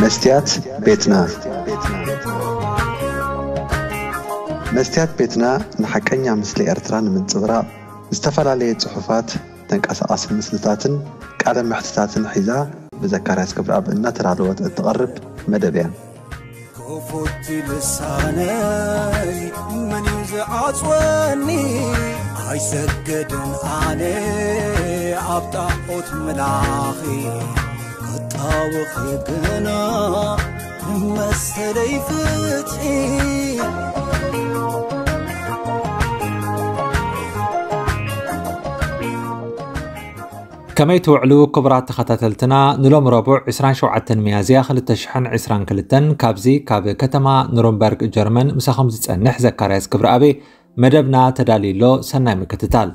መስትያት ቤትና። መስትያት ቤትና ንሓቀኛ ምስሊ ኤርትራ ንምንጽብራቕ ዝተፈላለየ ጽሑፋት፣ ተንቀሳቓሲ ምስልታትን ቃለ መሕትታትን ሒዛ ብዘካርያስ ክብረኣብ እናተዳለወት እትቐርብ መደብ እያ። ክፉት ልሳነይ መን እዩ ዝዓጽወኒ? ኣይሰግድን ኣነ ኣብ ጣዖት ምላኺ፣ ክጣወኺ ግና መሰለይ ፍትሒ። ከመይ ትውዕሉ ክቡራት ተኸታተልትና? ንሎም ረቡዕ ዕስራን ሸውዓተን ሚያዝያ ክልተ ሽሕን ዕስራን ክልተን ካብዚ ካብ ከተማ ኑርንበርግ ጀርመን ምሳኹም ዝጸንሕ ዘካርያስ ክብረኣብ መደብና ተዳልዩ ኣሎ። ሰናይ ምክትታል።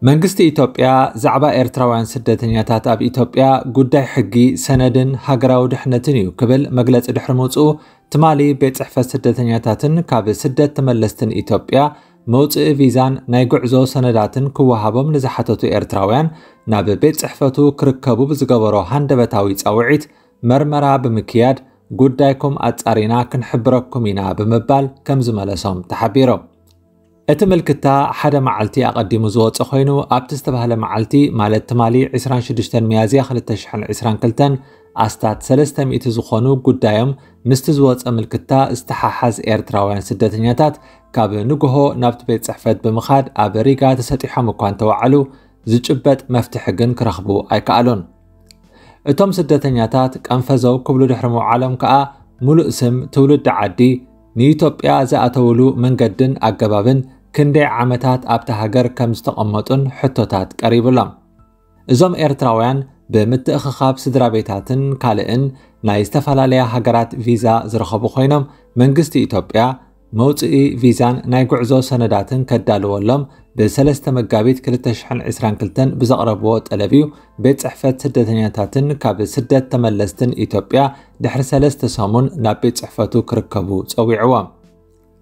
መንግስቲ ኢትዮጵያ ዛዕባ ኤርትራውያን ስደተኛታት ኣብ ኢትዮጵያ ጉዳይ ሕጊ፣ ሰነድን ሃገራዊ ድሕነትን እዩ ክብል መግለጺ ድሕሪ ምውጽኡ፣ ትማሊ ቤት ጽሕፈት ስደተኛታትን ካብ ስደት ተመለስትን ኢትዮጵያ መውጽኢ ቪዛን ናይ ጉዕዞ ሰነዳትን ክወሃቦም ንዝሓተቱ ኤርትራውያን ናብ ቤት ጽሕፈቱ ክርከቡ ብዝገበሮ ሃንደበታዊ ጻውዒት መርመራ ብምክያድ ጉዳይኩም ኣጻሪና ክንሕብረኩም ኢና ብምባል ከም ዝመለሶም ተሓቢሩ። እቲ ምልክታ ሓደ መዓልቲ ኣቐዲሙ ዝወጸ ኮይኑ፣ ኣብቲ ዝተባህለ መዓልቲ፣ ማለት ትማሊ ዕስራን ሽዱሽተን ሚያዝያ ክልተ ሽሕን ዕስራን ክልተን፣ ኣስታት ሰለስተ ሚእቲ ዝኾኑ ጉዳዮም ምስቲ ዝወጸ ምልክታ ዝተሓሓዝ ኤርትራውያን ስደተኛታት ካብ ንግሆ ናብቲ ቤት ጽሕፈት ብምኻድ ኣብ ሪጋ ተሰጢሖም እኳ እንተወዓሉ፣ ዝጭበጥ መፍትሒ ግን ክረኽቡ ኣይከኣሉን። እቶም ስደተኛታት ቀንፈዘው ክብሉ ድሕሪ ምውዓሎም ከኣ፣ ሙሉእ ስም፣ ትውልዲ ዓዲ፣ ንኢትዮጵያ ዝኣተውሉ መንገድን ኣገባብን፣ ክንደይ ዓመታት ኣብታ ሃገር ከም ዝተቐመጡን ሕቶታት ቀሪቡሎም። እዞም ኤርትራውያን ብምትእኽኻብ ስድራ ቤታትን ካልእን ናይ ዝተፈላለያ ሃገራት ቪዛ ዝረኸቡ ኮይኖም፣ መንግስቲ ኢትዮጵያ መውጽኢ ቪዛን ናይ ጉዕዞ ሰነዳትን ከዳልወሎም ብሰለስተ መጋቢት ክልተ ሽሕን ዕስራን ክልተን ብዘቕረብዎ ጠለብ እዩ ቤት ጽሕፈት ስደተኛታትን ካብ ስደት ተመለስትን ኢትዮጵያ ድሕሪ ሰለስተ ሰሙን ናብ ቤት ጽሕፈቱ ክርከቡ ጸዊዕዎም።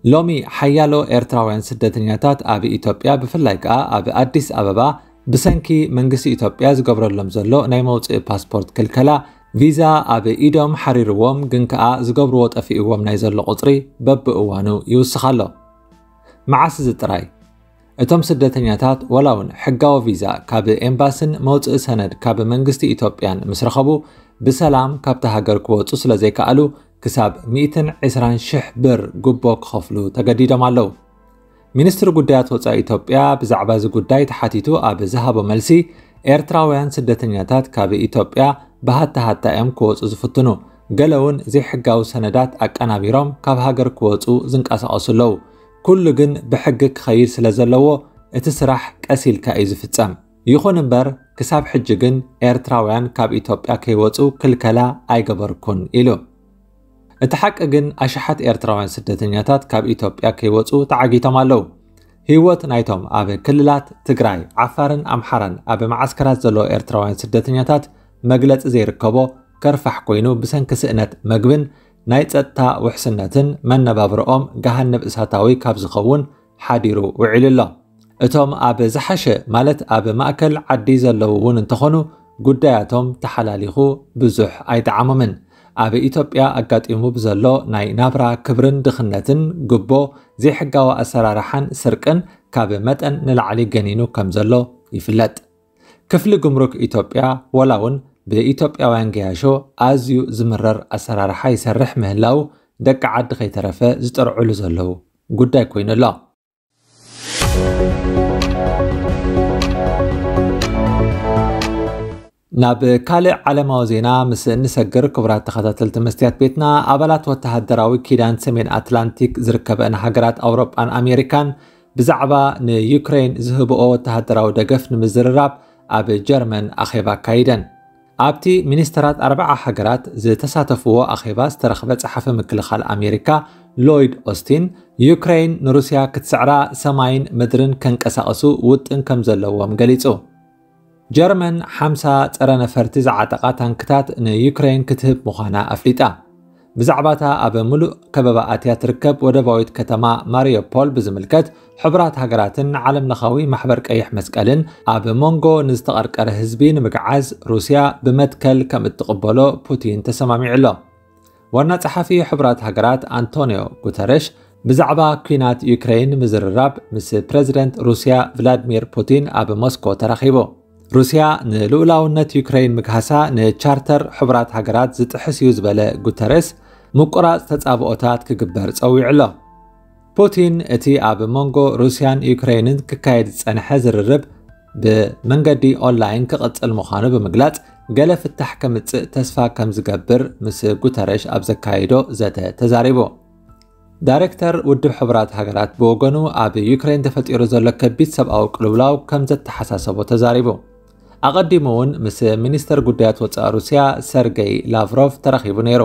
ሎሚ ሓያሎ ኤርትራውያን ስደተኛታት ኣብ ኢትዮጵያ፣ ብፍላይ ከኣ ኣብ ኣዲስ ኣበባ፣ ብሰንኪ መንግስቲ ኢትዮጵያ ዝገብረሎም ዘሎ ናይ መውጽኢ ፓስፖርት ክልከላ፣ ቪዛ ኣብ ኢዶም ሓሪርዎም፣ ግን ከኣ ዝገብርዎ ጠፊእዎም ናይ ዘሎ ቁጽሪ በብእዋኑ ይውስኽ ኣሎ። መዓስ እዚ ጥራይ? እቶም ስደተኛታት፣ ዋላ እውን ሕጋዊ ቪዛ ካብ ኤምባስን መውጽኢ ሰነድ ካብ መንግስቲ ኢትዮጵያን ምስ ረኸቡ፣ ብሰላም ካብታ ሃገር ክወጹ ስለ ዘይከኣሉ፣ ክሳብ ሚእትን ዕስራን ሽሕ ብር ጉቦ ክኸፍሉ ተገዲዶም ኣለዉ። ሚኒስትሪ ጉዳያት ወጻኢ ኢትዮጵያ ብዛዕባ እዚ ጉዳይ ተሓቲቱ ኣብ ዝሃቦ መልሲ፣ ኤርትራውያን ስደተኛታት ካብ ኢትዮጵያ ብሃታ ሃታ እዮም ክወጹ ዝፍትኑ። ገለ እውን ዘይሕጋዊ ሰነዳት ኣቀናቢሮም ካብ ሃገር ክወጹ ዝንቀሳቐሱ ኣለዉ። ኩሉ ግን ብሕጊ ክኸይድ ስለ ዘለዎ፣ እቲ ስራሕ ቀስ ኢልካ እዩ ዝፍጸም። ይኹን እምበር፣ ክሳብ ሕጂ ግን ኤርትራውያን ካብ ኢትዮጵያ ከይወጹ ክልከላ ኣይገበርኩን ኢሉ። እቲ ሓቂ ግን፣ ኣሽሓት ኤርትራውያን ስደተኛታት ካብ ኢትዮጵያ ከይወጹ ተዓጊቶም ኣለዉ። ህይወት ናይቶም ኣብ ክልላት ትግራይ፣ ዓፋርን ኣምሓራን ኣብ መዓስከራት ዘለዉ ኤርትራውያን ስደተኛታት መግለጺ ዘይርከቦ ከርፋሕ ኮይኑ፣ ብሰንኪ ስእነት መግብን ናይ ጸጥታ ውሕስነትን መነባብሮኦም ገሃነብ እሳታዊ ካብ ዝኸውን ሓዲሩ ውዒሉ ኣሎ። እቶም ኣብ ዝሓሸ፣ ማለት ኣብ ማእከል ዓዲ ዘለዉ እውን እንተኾኑ፣ ጉዳያቶም ተሓላሊኹ ብዙሕ ኣይጠዓሞምን። ኣብ ኢትዮጵያ ኣጋጢሙ ብዘሎ ናይ ናብራ ክብርን ድኽነትን፣ ጉቦ፣ ዘይሕጋዊ ኣሰራርሓን ስርቅን ካብ መጠን ንላዕሊ ገኒኑ ከም ዘሎ ይፍለጥ። ክፍሊ ጉምሩክ ኢትዮጵያ፣ ዋላ እውን ብኢትዮጵያውያን ገያሾ ኣዝዩ ዝምረር ኣሰራርሓ ይሰርሕ ምህላው፣ ደቂ ዓዲ ከይተረፈ ዝጠርዕሉ ዘለዉ ጉዳይ ኮይኑ ኣሎ። ናብ ካልእ ዓለማዊ ዜና ምስ እንሰግር፣ ክቡራት ተኸታተልቲ መስትያት ቤትና፣ ኣባላት ወተሃደራዊ ኪዳን ሰሜን ኣትላንቲክ ዝርከበን ሃገራት ኣውሮጳን ኣሜሪካን ብዛዕባ ንዩክሬን ዝህብኦ ወተሃደራዊ ደገፍ ንምዝርራብ ኣብ ጀርመን ኣኼባ ኣካይደን። ኣብቲ ሚኒስተራት ኣርባዓ ሃገራት ዝተሳተፍዎ ኣኼባ ዝተረኽበ ጸሓፊ ምክልኻል ኣሜሪካ ሎይድ ኦስቲን፣ ዩክሬን ንሩስያ ክትስዕራ ሰማይን ምድርን ከንቀሳቕሱ ውጥን ከም ዘለዎም ገሊጹ። ጀርመን ሓምሳ ጸረ ነፈርቲ ዝዓጠቓ ታንክታት ንዩክሬን ክትህብ ምዃና ኣፍሊጣ። ብዛዕባታ ኣብ ምሉእ ከበባ ኣትያ ትርከብ ወደባዊት ከተማ ማሪዮፖል ብዝምልከት፣ ሕቡራት ሃገራትን ዓለም ለኻዊ ማሕበር ቀይሕ መስቀልን ኣብ መንጎ ንዝተቐርቀረ ህዝቢ ንምግዓዝ ሩስያ ብመትከል ከም እትቕበሎ ፑቲን ተሰማሚዑ ኣሎ። ዋና ጸሓፊ ሕቡራት ሃገራት ኣንቶኒዮ ጉተረሽ ብዛዕባ ኲናት ዩክሬን ምዝርራብ ምስ ፕረዚደንት ሩስያ ቭላድሚር ፑቲን ኣብ ሞስኮ ተራኺቡ። ሩስያ ንልኡላውነት ዩክሬን ምግሃሳ ንቻርተር ሕቡራት ሃገራት ዝጥሕስ እዩ ዝበለ ጉተረስ፣ ምቁራጽ ተጻብኦታት ክግበር ጸዊዑ ኣሎ። ፑቲን እቲ ኣብ መንጎ ሩስያን ዩክሬንን ክካየድ ዝጸንሐ ዝርርብ ብመንገዲ ኦንላይን ክቕጽል ምዃኑ ብምግላጽ፣ ገለ ፍታሕ ከምጽእ ተስፋ ከም ዝገብር ምስ ጉተረሽ ኣብ ዘካየዶ ዘተ ተዛሪቡ። ዳይሬክተር ውድብ ሕቡራት ሃገራት ብወገኑ፣ ኣብ ዩክሬን ተፈጢሩ ዘሎ ከቢድ ሰብኣዊ ቅልውላው ከም ዘተሓሳሰቦ ተዛሪቡ። ኣቐዲሙ እውን ምስ ሚኒስተር ጉዳያት ወጻኢ ሩስያ ሰርጌይ ላቭሮቭ ተራኺቡ ነይሩ።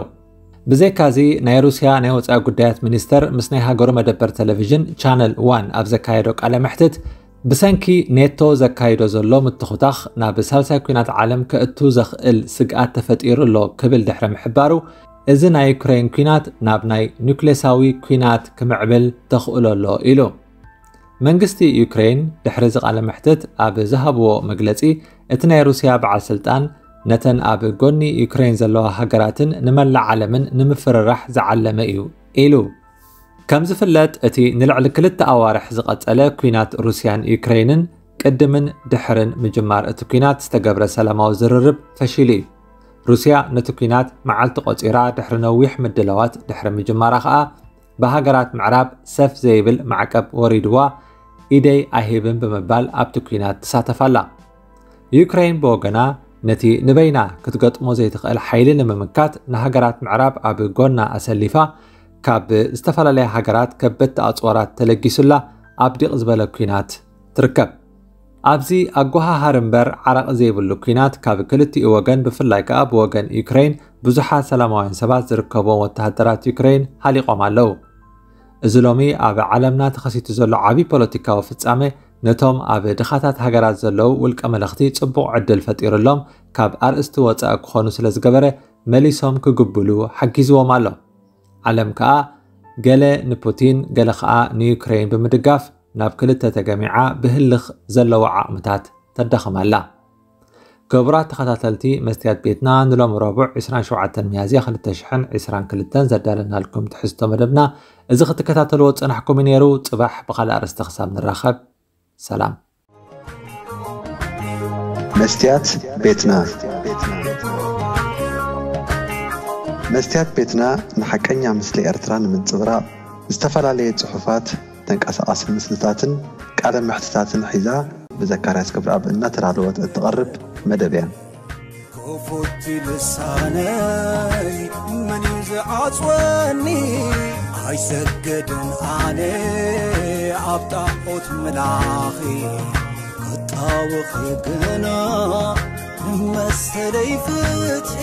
ብዘይካዚ፣ ናይ ሩስያ ናይ ወጻኢ ጉዳያት ሚኒስተር ምስ ናይ ሃገሩ መደበር ቴሌቪዥን ቻነል ዋን ኣብ ዘካየዶ ቃለ መሕትት፣ ብሰንኪ ኔቶ ዘካይዶ ዘሎ ምትኹታኽ ናብ ሳልሳይ ኲናት ዓለም ከእቱ ዘኽእል ስግኣት ተፈጢሩ ኣሎ ክብል ድሕሪ ምሕባሩ፣ እዚ ናይ ዩክሬን ኲናት ናብ ናይ ኑክሌሳዊ ኲናት ክምዕብል ተኽእሎ ኣሎ ኢሉ። መንግስቲ ዩክሬን ድሕሪ እዚ ቃለ መሕትት ኣብ ዝሃብዎ መግለጺ፣ እቲ ናይ ሩስያ በዓል ስልጣን ነተን ኣብ ጎኒ ዩክሬን ዘለዋ ሃገራትን ንመላእ ዓለምን ንምፍርራሕ ዝዓለመ እዩ ኢሉ። ከም ዝፍለጥ፣ እቲ ንልዕሊ ክልተ ኣዋርሕ ዝቐጸለ ኲናት ሩስያን ዩክሬንን ቅድምን ድሕርን ምጅማር እቲ ኲናት ዝተገብረ ሰላማዊ ዝርርብ ፈሺሉ እዩ። ሩስያ ነቲ ኲናት መዓልቲ ቆጺራ ድሕሪ ነዊሕ ምድላዋት ድሕሪ ምጅማራ ከኣ፣ ብሃገራት ምዕራብ ሰፍ ዘይብል ማዕቀብ ወሪድዋ፣ ኢደይ ኣይህብን ብምባል ኣብቲ ኲናት ትሳተፍ ኣላ። ዩክሬን ብወገና፣ ነቲ ንበይና ክትገጥሞ ዘይትኽእል ሓይሊ ንምምካት፣ ንሃገራት ምዕራብ ኣብ ጎና ኣሰሊፋ፣ ካብ ዝተፈላለያ ሃገራት ከበድቲ ኣጽዋራት ተለጊሱላ ኣብ ዲቕ ዝበለ ኲናት ትርከብ። ኣብዚ ኣጓሃሃር እምበር ዓራቒ ዘይብሉ ኲናት፣ ካብ ክልቲኡ ወገን፣ ብፍላይ ከኣ ብወገን ዩክሬን፣ ብዙሓት ሰላማውያን ሰባት ዝርከብዎም ወተሃደራት ዩክሬን ሃሊቖም ኣለዉ። እዚ ሎሚ ኣብ ዓለምና ተኸሲቱ ዘሎ ዓቢ ፖለቲካዊ ፍጻመ፣ ነቶም ኣብ ድኻታት ሃገራት ዘለዉ ውልቀ መለኽቲ ጽቡቕ ዕድል ፈጢሩሎም፣ ካብ ኣርእስቲ ወጻኢ ክኾኑ ስለ ዝገበረ፣ መሊሶም ክግብሉ ሓጊዝዎም ኣሎ። ዓለም ከኣ ገለ ንፑቲን፣ ገለ ከኣ ንዩክሬን ብምድጋፍ፣ ናብ ክልተ ተገሚዓ ብህልኽ ዘለዋ ዓቕምታት ተዳኽም ኣላ። ክቡራት ተኸታተልቲ መስትያት ቤትና፣ ንሎሚ ረቡዕ ዕስራን ሸውዓተን ሚያዝያ ክልተ ሽሕን ዕስራን ክልተን ዘዳለናልኩም ትሕዝቶ መደብና እዚ ክትከታተልዎ ዝጸናሕኩም እዩ ነይሩ። ጽባሕ ብኻልእ ኣርእስቲ ክሳብ ንራኸብ፣ ሰላም። መስትያት ቤትና። መስትያት ቤትና ንሓቀኛ ምስሊ ኤርትራ ንምንጽብራቕ፣ ዝተፈላለየ ጽሑፋት፣ ተንቀሳቓሲ ምስልታትን ቃለ መሕትታትን ሒዛ፣ ብዘካርያስ ክብረኣብ እናተዳለወት እትቐርብ መደብ እያ። ክፉት ልሳነይ መን እዩ ዝዓጽወኒ? ኣይሰገድን ኣነ ኣብ ጣዖት ምላኺ፣ ክጣወኺ ግና መሰለይ ፍትሒ።